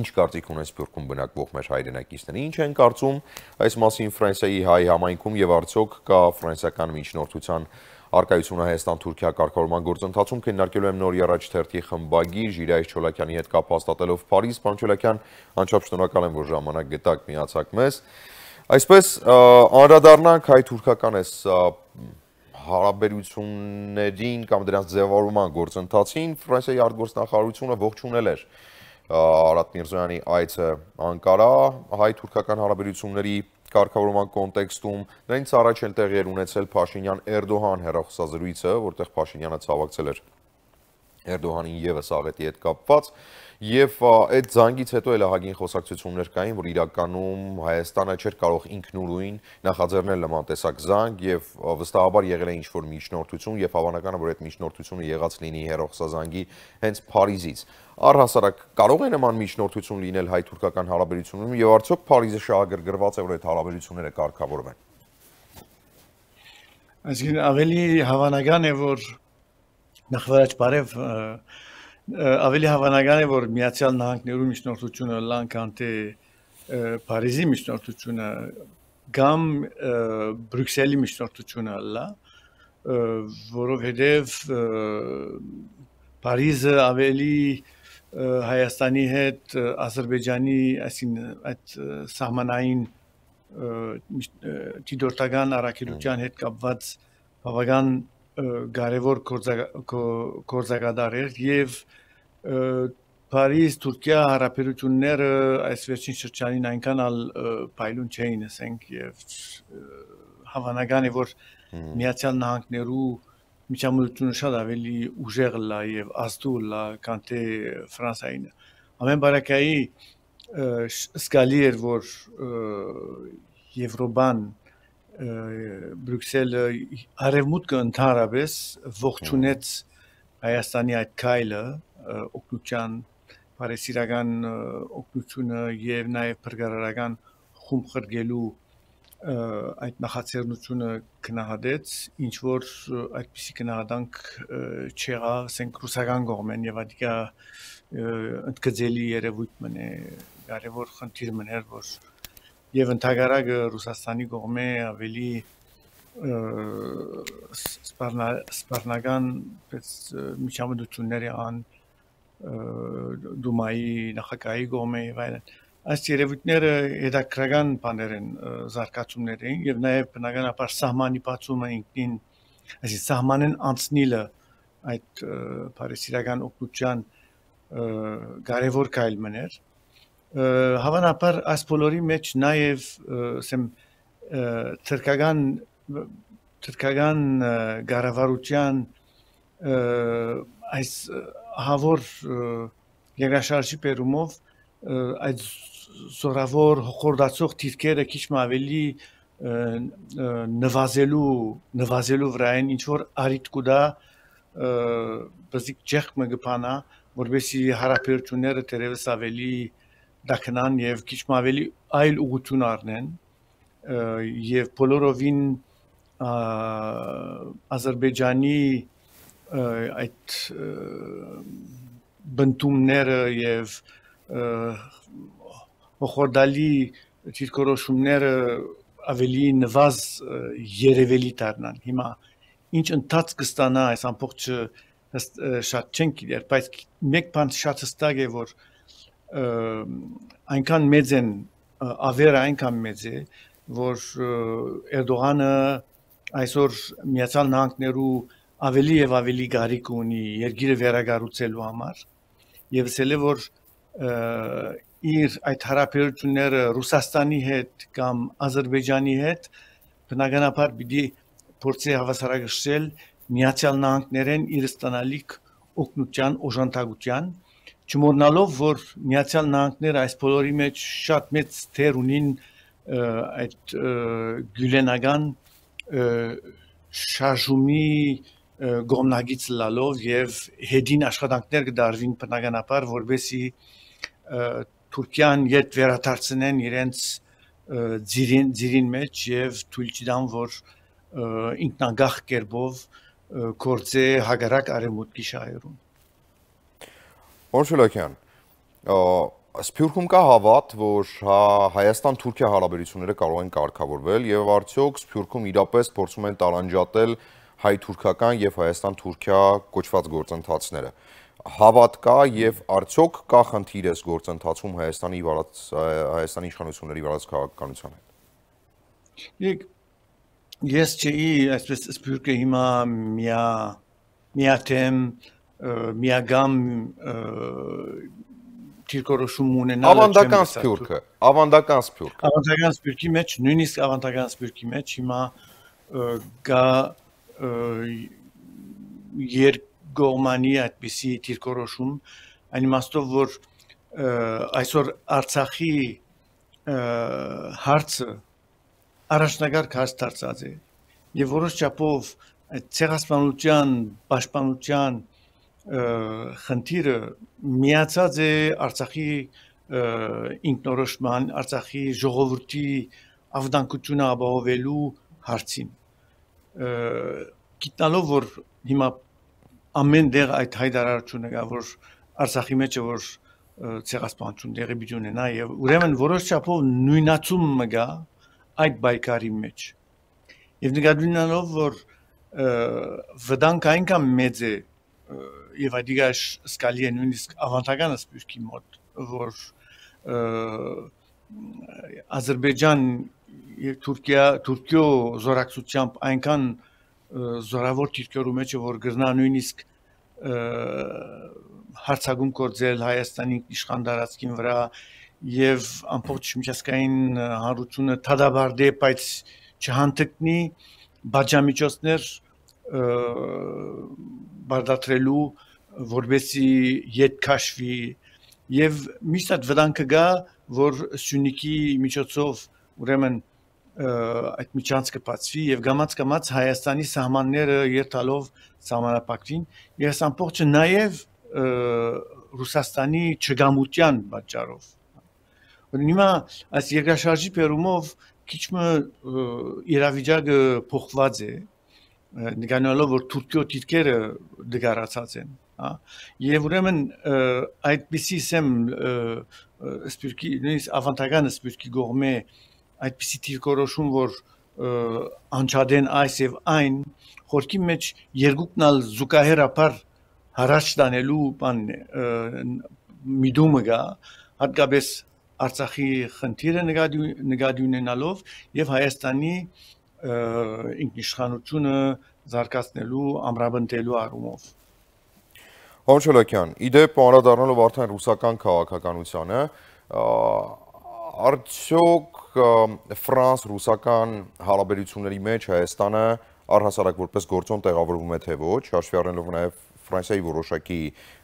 Ինչ կարծիք ունեն Սփյուռքում բնակվող մեր հայրենակիցները, ինչ են կարծում այս մասին Ֆրանսիայի հայ համայնքում եւ արդյոք կա ֆրանսիական միջնորդության արկայությունը Հայաստան-Թուրքիա կարգավորման գործընթացում քննարկելու եմ նոր առաջ թերթի խմբագիր Ժիրայր Չոլակյանի հետ կապ հաստատելով Փարիզ։ Պարոն Չոլակյան, անչափ շնորհակալ եմ, որ ժամանակ գտաք, միացաք մեզ։ Այսպես անդրադառնանք հայ-թուրքական այս հարաբերություններին կամ դրանց ձևավորման գործընթացին, Ֆրանսիայի արտգործնախարարությունը ողջունել էր Արադ Միրզոյանի այցը Անկարա հայ-թուրքական հարաբերությունների կարգավորման կոնտեքստում, դրանից առաջ էլ տեղի էր ունեցել Փաշինյան-Էրդողան հեռախոսազրույցը, որտեղ Փաշինյանը ցավակցել էր Էրդողանին ևս աղետի հետ կապված, եւ այդ զանգից հետո էլ ահագին խոսակցություններ կային, որ իրականում Հայաստանը չէր կարող ինքնուրույն նախաձեռնել նման տեսակ զանգ եւ վստահաբար եղել է ինչ-որ միջնորդություն եւ հավանական է, որ այդ միջնորդությունը եղած լինի հեռախոսազանգի հենց Փարիզից։ Առհասարակ կարող է նման միջնորդություն լինել հայ-թուրքական հարաբերություններում եւ արդյոք Փարիզը շահագրգռված է, որ այդ հարաբերությունները կարգավորվեն։ Այսինքն ավելի հավանական է, որ նախվարաջ բարև ավելի հավանական է, որ Միացյալ Նահանգներու միջնորդությունը լան քան թե Փարիզի միջնորդությունը կամ Բրյուսելի միջնորդությունը լա, որովհետև Փարիզը ավելի Հայաստանի հետ Ադրբեջանի այսինքն այդ սահմանային դիտորդական առաքելության հետ կապված բավական կարևոր գործակատար էր եւ Փարիզ-Թուրքիա հարաբերությունները այս վերջին շրջանին այնքան ալ փայլուն չէին, ասենք, եւ հավանական է, որ Միացյալ Նահանգներու միջամտությունը շատ ավելի ուժեղ լա եւ ազդու լա, քան թե Ֆրանսիային։ Ամեն բարակայի զգալի էր, որ Եվրոպան Բրյուսելը արևմուտքը ընդհանրապես ողջունեց Հայաստանի այդ քայլը օգնության բարեսիրական օգնությունը եւ նաեւ փրկարարական խումբ խրգելու այդ նախաձեռնությունը գնահատեց, ինչ որ այդպիսի գնահատանք չեղա, ասենք ռուսական կողմեն եւ ադիկա ընդգծելի երևույթ մնե կարևոր խնդիր մներ, որ եւ ընդհանրակը Ռուսաստանի կողմէ ավելի սպառնական միջամտությունների ան Դումայի նախագահի կողմէ եւ այլն։ Այս երևույթները հետաքրական բաներ են, զարգացումներ են եւ նաեւ բնականաբար սահմանի բացումը ինքնին, այսինքն սահմանեն անցնիլը այդ բարեսիրական օգնության կարևոր քայլ մներ։ Հավանաբար այս բոլորի մեջ նաեւ ասեմ թրքական կառավարության այս հավոր երկրաշարժի բերումով այդ զորավոր խորդացող թիրքերը քիչ ավելի նվազելու վրա են, ինչ որ արիտ կուտա բզիկ ջեղք մգպանա, որովհետեւ հարաբերությունները դերևս ավելի դակնան եւ քիչ ավելի այլ ուղղություն առնեն եւ բոլորովին Ադրբեջանի այդ բնդումները եւ խորդալի դիրքորոշումները ավելի նվազ երևելի դառնան։ Հիմա ինչ ընթաց կստանա այս ամբողջը շատ չենք իրար, բայց մեկ բան շատ հստակ է, որ այնքան մեծ են ավերը այնքան մեծ է, որ Էրդողանը այսօր Միացյալ Նահանգներու ավելի եւ ավելի գարիք ունի երկիրը վերակառուցելու համար եւ ասել է, որ իր այդ հարաբերությունները Ռուսաստանի հետ կամ Ադրբեջանի հետ բնականաբար պիտի փորձի հավասարակշռել Միացյալ Նահանգներեն իր ստանալիք օգնության օժանդակության, չմոռնալով, որ Միացյալ Նահանգները այս բոլորի մեջ շատ մեծ թեր ունին այդ գյուլենական շարժումի գոմնագից լալով եւ հետին աշխատանքներ կդարվին բնականաբար, որբեսի Թուրքիան յետ վերադարձնեն իրենց ձիրին մեջ եւ թույլ չտան, որ ինքնագահ կերպով գործե հագարակ արևմուտքի շահերում։ Պարոն Չոլակյան, Սփյուռքում կա հավատ, որ Հայաստան-Թուրքիա հարաբերությունները կարող են կարգավորվել եւ արդյոք Սփյուռքում իրապես փորձում են տարանջատել հայ-թուրքական եւ Հայաստան-Թուրքիա կոչված գործընթացները։ Հավատ կա եւ արդյոք կա խնդիր այս գործընթացում Հայաստանի իշխանությունների վարած քաղաքականության հետ։ Ես չէի այսպես Սփյուռքը հիմա միաթեմ միագամ Թիրքորոշում ունենալ ավանդական Սփյուռքի մեջ նույնիսկ ավանդական Սփյուռքի մեջ հիմա գա երկկողմանի այդպիսի թիրքորոշում այն իմաստով որ այսօր Արցախի հարցը առաջնակարգ հարց դարձած է եւ որոշ չափով ցեղասպանության պաշտպանության խնդիրը միացած է Արցախի ինքնորոշման, Արցախի ժողովրդի ավտանկությունը ապահովելու հարցին։ Գիտնալով որ հիմա ամեն դեղ այդ հայտարարությունը կա որ Արցախի մեջ է որ ցեղասպանություն տեղի ունենա եւ ուրեմն որոշ չափով նույնացում կա այդ բայկարի մեջ։ Եվ նկատի ունենալով որ վտանգը այնքան մեծ է եւ այդիկա սկալի է նույնիսկ ավանդական Սփյուռքի մոտ որ Ադրբեջան եւ Թուրքիո զորակցությամբ այնքան զորավոր թիրքորու մեջ է որ գրնա նույնիսկ հարցակում կործել Հայաստանի իշխանдарացքին վրա եւ ամբողջ միջազգային հանրությունը թադաբարդե բայց չհանդգնի բաժամիջոցներ բարդատրելու որբեսի ետ քաշվի եւ միշտ այդ վտանգը գա որ Սյունիքի միջոցով ուրեմն այդ միջանցքը բացվի եւ գամած Հայաստանի սահմանները երթալով սահմանապակվին եւ ամբողջը նաեւ Ռուսաստանի չգամության պատճառով հիմա այս երկրաշարժի պերումով քիչ իրավիճակը փոխված է նկատելով որ Թուրքիո դիրքերը դգարացած են եւ ուրեմն այդպիսի սեմ Սփյուռքի նույնիսկ ավանդական Սփյուռքի կողմէ այդպիսի դիրքորոշում որ անչադեն այս եւ այն խորքի մեջ երկուքնալ զուգահեռաբար հարաճ տանելու բան միտումը գա հատկապես Արցախի խնդիրը նկատի ունենալով եւ Հայաստանի ինքնիշխանությունը զարգացնելու ամրապնդելու առումով Հոմչոլոքյան, իդեպ անդրադառնալով արդեն ռուսական քաղաքականությանը, արդյոք ֆրանս-ռուսական հարաբերությունների մեջ Հայաստանը առհասարակ որպես գործոն տեղավորվում է թե ոչ, հաշվի առնելով նաև Ֆրանսիայի որոշակի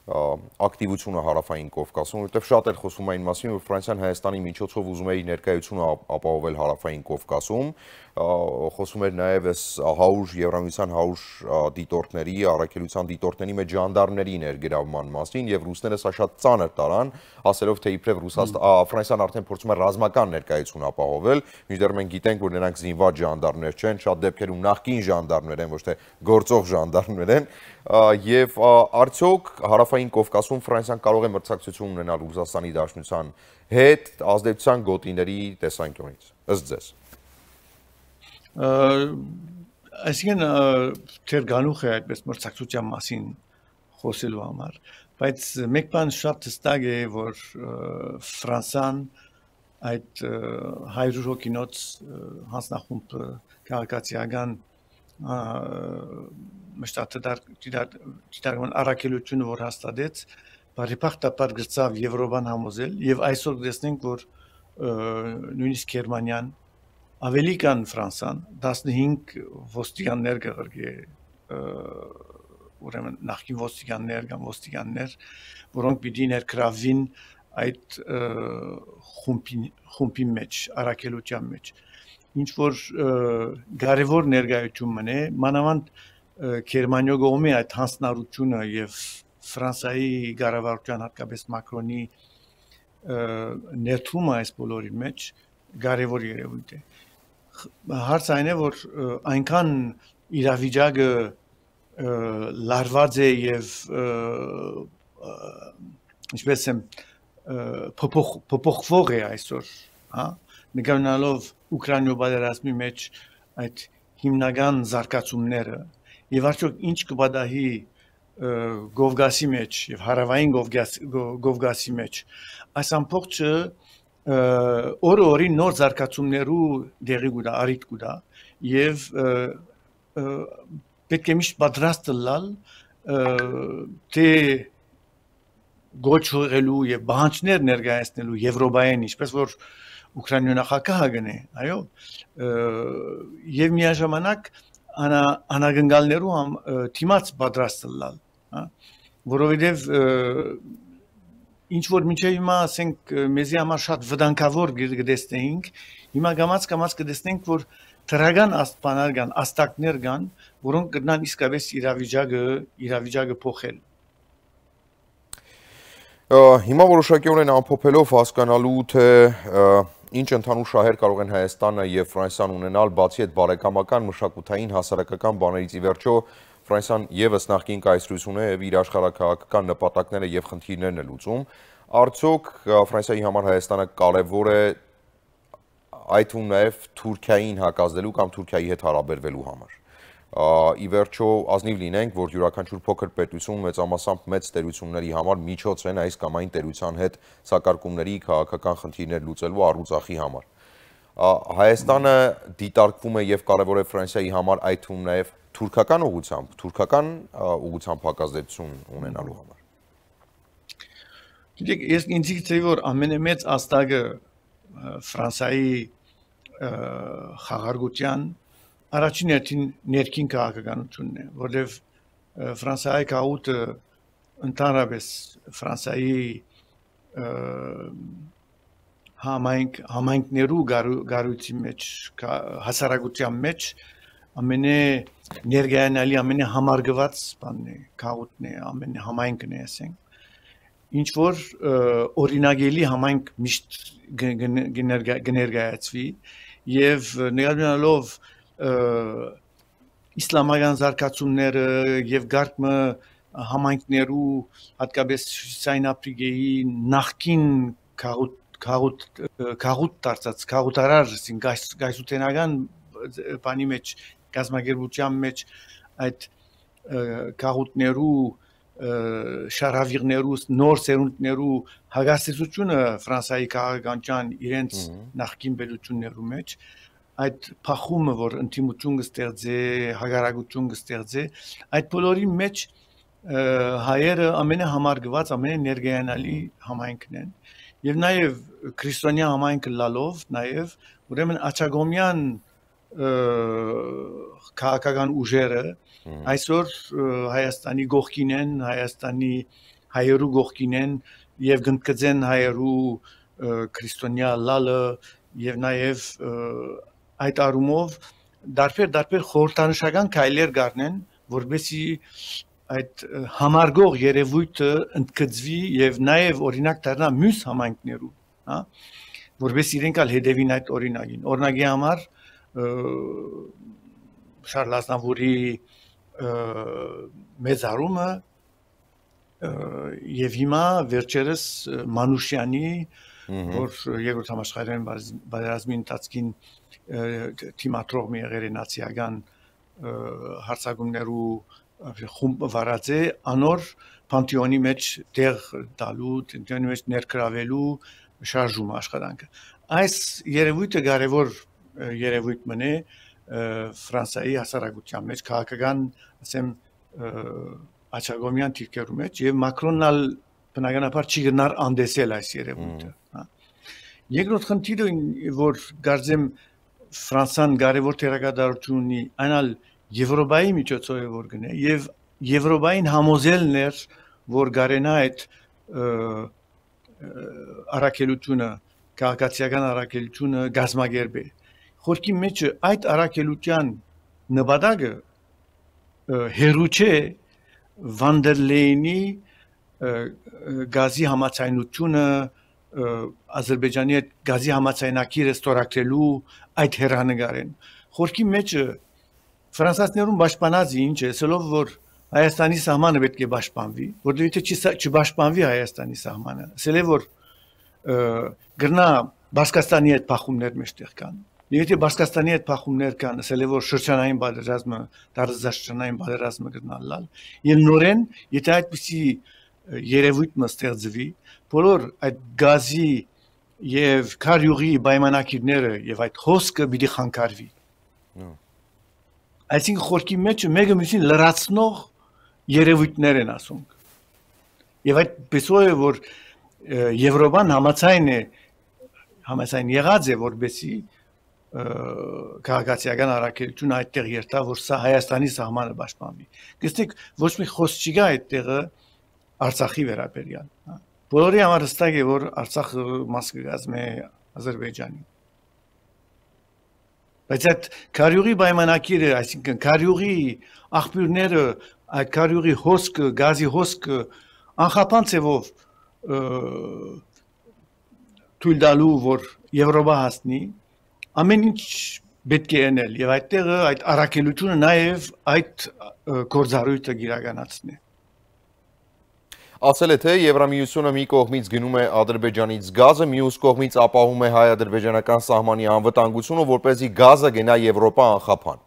ակտիվությունը հարավային Կովկասում, որտեղ շատ էլ խոսում էին մասին, որ Ֆրանսիան Հայաստանի միջոցով ուզում է իր ներկայությունը ապահովել հարավային Կովկասում, խոսում էր նաև այս հաուժ Եվրամիության հաուժ դիտորդների, առաքելության դիտորդների մեջ ժանդարմների ներգրավման մասին եւ ռուսները սա շատ ծանր տարան, ասելով թե իբրև Ֆրանսիան արդեն փորձում է ռազմական ներկայություն ապահովել, մինչդեռ մենք գիտենք, որ նրանք զինված ժանդարմներ չեն, շատ դեպքերում նախկին ժանդարմներ են, ոչ թե գործող ժանդարմներ են, եւ արդյոք հարավային Կովկասում Ֆրանսիան կարող է մրցակցություն ունենալ Ռուսաստանի Դաշնության հետ ազդեցության գոտիների տեսանկյունից, ըստ ձեզ։ Այսինքն թեր գանուխ է այդպես մրցակցության մասին խոսելու համար, բայց մեկ բան շատ հստակ է, որ Ֆրանսան այդ 100 հոգինոց հանձնախումբ քաղաքացիական մշտադարձ առաքելությունը որ հաստատեց, բարեփոխտաբար գրծավ Եվրոպան համոզել եւ այսօր տեսնենք, որ նույնիսկ Գերմանիան ավելի կան Ֆրանսան 15 ոստիկաններ կղրգի ուրեմն նախկին ոստիկաններ կամ ոստիկաններ, որոնք պիտի ներգրավվին այդ խումբի մեջ, առաքելության մեջ։ Ինչ որ կարևոր ներկայություն մնե, մանավանդ Գերմանիո կողմի այդ հանձնառությունը եւ Ֆրանսիայի կառավարության հատկապես Մակրոնի ներդրումը այս բոլորի մեջ կարևոր երևույթ է։ Հարցը այն է, որ այնքան իրավիճակը լարված է եւ ինչպես եմ փոփոխվող է այսօր, հա, նկարնալով Ուկրաինայի պատերազմի մեջ այդ հիմնական զարգացումները եւ արդյոք ինչ կպատահի Կովկասի մեջ եւ հարավային Կովկասի մեջ այս ամբողջը օրը նոր զարգացումներու դեղի գուտա արիտ գուտա եւ պետք է միշտ պատրաստ լալ թե գոչվելու եւ բանջներ ներկայացնելու Եվրոպային ինչպես որ Ուկրաինայի նախագահը գնե այո եւ միաժամանակ անագնգալներու թիմած պատրաստ լալ հա որովհետեւ ինչ որ մինչև հիմա ասենք մեզի համար շատ վտանգավոր գտեսնեինք հիմա գամած կտեսնենք որ թրագան աստպաներ կան աստակներ կան որոնք կգնան իսկապես իրավիճակը փոխել հիմա որոշակիորեն ամփոփելով հասկանալու թե ինչ ընդհանուր շահեր կարող են Հայաստանը եւ Ֆրանսիան ունենալ բացի այդ բարեկամական մշակութային հասարակական բաներից ի վերջո Ֆրանսիան եւս նախկին կայսրություն է եւ իր աշխարհակաղակական նպատակները եւ խնդիրներն է լուծում արդյոք Ֆրանսիայի համար Հայաստանը կարեւոր է այդ ու նաեւ Թուրքիային հակազդելու կամ Թուրքիայի հետ հարաբերվելու համար ի վերջո ազնիվ լինենք որ յուրաքանչյուր փոքր պետություն մեծամասամբ մեծ տերությունների համար միջոց են այս կամ այն տերության հետ սակարկումների քաղաքական խնդիրներ լուծելու առուծախի համար Հայաստանը դիտարկվում է եւ կարեւոր է Ֆրանսիայի համար այդ ու նաեւ թուրքական ուղղությամբ հակազդեցություն ունենալու համար։ Գիտեք, ես ինձ թվի որ ամենամեծ աստակը Ֆրանսիայի խաղաղության առաջին ներքին քաղաքականությունն է, որտեղ Ֆրանսիայի քաղուտը ընդհանրապես Ֆրանսիայի համայնքներու գարույցի մեջ հասարակության մեջ ամենե ներգայանալի ամենե համարգված բանն է քաղուտն է ամենե համայնքն է ասենք ինչ որ օրինագելի համայնք միշտ կներկայացվի եւ ներառնալով իսլամական զարգացումները եւ գարկմը համայնքներու հատկապես Հյուսիսային Աֆրիկայի նախկին քաղուտ դարձած քաղուտարար գայսութենական բանի մեջ գազագերբության մեջ այդ քաղուտներու շարավիղներու նոր սերունդներու հագաստեցությունը Ֆրանսիայի քաղաքական իրենց նախկին պետություններու մեջ այդ փախումը որ ինտիմություն կստեղծե հագարակություն կստեղծե այդ բոլորի մեջ հայերը ամենահամարգված ամենեներգայանալի համայնքն են եւ նաեւ քրիստոնյա համայնքը լալով նաեւ ուրեմն աչագոմյան քաղաքական ուժերը այսօր Հայաստանի գողքին են Հայաստանի հայերու գողքին են եւ գնկծեն հայերու քրիստոնյա լալը եւ նաեւ այդ առումով դարբեր խորհրդանշական քայլեր գարնեն որբեսի այդ համարգող երևույթը ընդգծվի եւ նաեւ օրինակ դառնա մյուս համայնքներու հա որբեսի իրենք ալ հետևին այդ օրինակին օրինակի համար Շարլ Ազնավուրի մեծարումը եւ հիմա վերջերս Մանուշյանի որ երկրորդ համաշխարհային պատերազմի ընթացքին թիմատրող մի եղել է նացիական հարձակումներու խումբ վարած է անոր պանթեոնի մեջ տեղ տալու պանթեոնի մեջ ներգրավելու շարժում աշխատանքը այս երևույթը կարևոր երևույթ մնե Ֆրանսիայի հասարակության մեջ քաղաքական ասեմ աչագոմյան թիրքերու մեջ եւ Մակրոնն բնականաբար չի գնար անդեսել այս երևույթը հա երկրորդ խնդիրը որ գարձեմ Ֆրանսիան կարևոր թերակատարություն ունի այնալ Եվրոպայի միջոցով որ գնե եւ Եվրոպային համոզելն էր որ գարենա այդ առաքելությունը քաղաքացիական առաքելությունը գազմագերբե խորքի մեջ այդ առաքելության նպատակը հերուչե Վանդերլեյնի գազի համացայնությունը Ադրբեջանի գազի համացայնակիրը ստորագրելու այդ հերանեկարեն խորքի մեջ ֆրանսիացիներուն պաշտպանած ինչ է ասելով որ Հայաստանի սահմանը պետք է պաշտպանվի որովհետեւ չպաշտպանվի Հայաստանի սահմանը ասել է որ գրնա Բասկաստանի հետ փախումներ մեջտեղ կան։ Եթե Բասկաստանի հետ փախումներ կան, ասել է որ շրջանային բادرազմը, տարածաշրջանային բادرազմը գտնալալ, եւ նորեն, եթե այդպիսի երևույթը ստեղծվի, բոլոր այդ գազի եւ քարյուղի պայմանակիրները եւ այդ հոսքը պիտի խանգարվի։ Այսինքն խորքի մեջ մեկը մյուսին լրացնող երևույթներ են ասում։ Եվ այդ պեսո է որ Եվրոպան համաձայն եղած է որբեսի քաղաքացիական առաքելություն այդտեղ երթա որ սա Հայաստանի սահմանը պաշտպանվի։ Գիտեք ոչ մի խոսք չկա այդտեղը Արցախի վերաբերյալ, բոլորի համար հստակ է որ Արցախը մաս կգազմի Ադրբեջանի։ Բայց այդ քարյուղի պայմանակիրը, այսինքն քարյուղի աղբյուրները, այդ քարյուղի հոսքը, գազի հոսքը անխափան ցևով թույլ տալու որ Եվրոպա հասնի, ամեն ինչ պետք է անել եւ այդտեղը այդ առաքելությունը նաեւ այդ գործառույթը իրականացնի։ Ասել է թե Եվրամիությունը մի կողմից գնում է Ադրբեջանից գազը, մյուս կողմից ապահովում է հայ-ադրբեջանական սահմանի անվտանգությունը, որպեսզի գազը գնա Եվրոպա անխափան։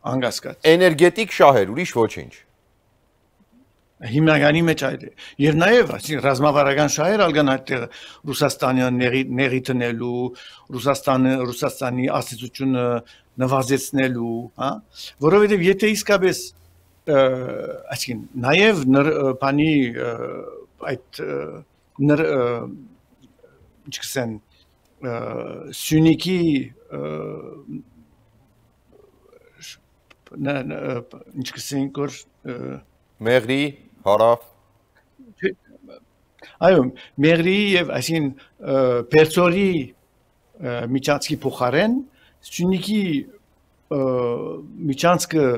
Անկասկած։ Էներգետիկ շահեր, ուրիշ ոչինչ։ Հիմնականի մեջ այդ է։ Եվ նաև ռազմավարական շահեր ալգան այդտեղ Ռուսաստանը նեղի տնելու, Ռուսաստանի ասացությունը նվազեցնելու, հա, որովհետև եթե իսկապես այսինքն նաև բանի այդ ինչքսեն Սյունիքի ինչքսեն կոր Մեղրի հարավ Այո, Մեղրի եւ այսին Պերցորի միջանցքի փոխարեն Սյունիքի միջանցքը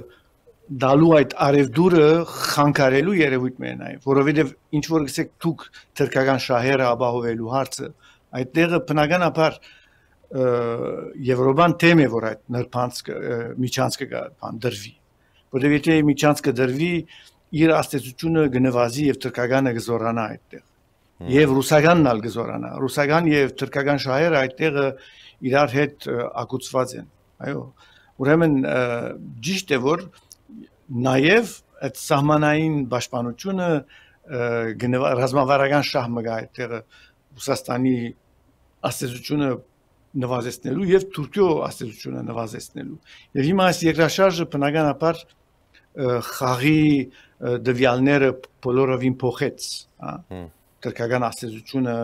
դալու այդ արևդուրը խանգարելու երևույթ մեն այ, որովհետեւ ինչ որ գսեք դուք թրկական շահերը ապահովելու հարցը, այդտեղը բնականաբար Եվրոպան թեմ է որ այդ նրբանցքը միջանցքը դրվի, որովհետեւ եթե միջանցքը դրվի իր աստեցությունը գնվազի եւ թրկականը գզորանա այդտեղ եւ ռուսականն ալ գզորանա ռուսական եւ թրկական շահերը այդտեղը իրար հետ ակուցված են այո ուրեմն ճիշտ է որ նաեւ այդ սահմանային պաշտպանությունը ռազմավարական շահ մգա այդտեղը Ռուսաստանի աստեցությունը նվազեցնելու եւ Թուրքիո աստեցությունը նվազեցնելու եւ հիմա այս երկրաշարժը բնականաբար խաղի դվյալները բոլորովին փոխեց, հա, թրկական աստեցությունը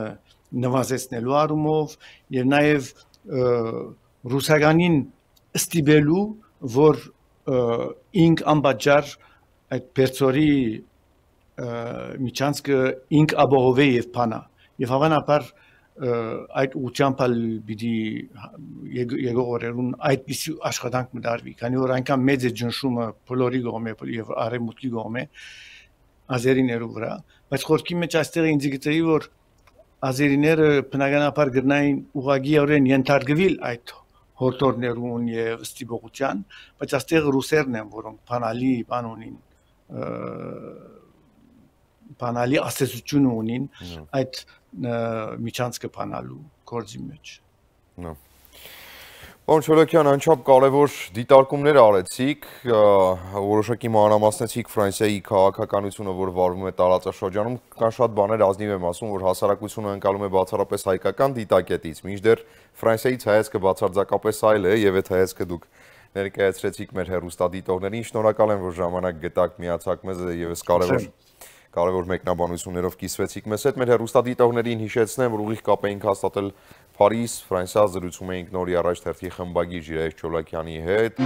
նվազեցնելու առումով եւ նաեւ ռուսականին ստիպելու, որ ինք անբաժար այդ Պերցորի միջանցքը ինք ապահովի եւ փանա եւ հավանաբար այդ ուղղությամբ պիտի եկող օրերուն այդպիսի աշխատանք մտարվի, քանի որ այնքան մեծ է ճնշումը բոլորի կողմէ եւ արևմուտքի կողմէ ազերիներու վրա, բայց խորքի մեջ այստեղ ինձ գիտեի որ ազերիները բնականաբար գրնային ուղղակիորեն ենթարկվել այդ հորտորներուն եւ ստիպողության, բայց այստեղ ռուսերն են, որոնք բանալի բան ունին բանալի աստեցություն ունին այդ միջանցքը բանալու գործի մեջ։ Պարոն Չոլոքյան, անչափ կարևոր դիտարկումներ արեցիք, որոշակի մանրամասնեցիք Ֆրանսիայի քաղաքականությունը, որ վարվում է տարածաշրջանում, կան շատ բաներ ազնիվ եմ ասում, որ հասարակությունը ընկալում է բացառապես հայկական դիտակետից, մինչդեռ Ֆրանսիայից հայացքը բացարձակապես այլ է, եւ այդ հայացքը դուք ներկայացրեցիք մեր հեռուստադիտողներին, շնորհակալ եմ, որ ժամանակ գտաք, միացաք մեզ եւս կարևոր մեկնաբանություններով կիսվեցիք մեզ հետ, մեր հեռուստադիտողներին հիշեցնեմ, որ ուղիղ կապ էինք հաստատել Փարիզ, Ֆրանսիա, զրուցում էինք նորի առաջ թերթի խմբագիր Ժիրայր Չոլոքյանի հետ։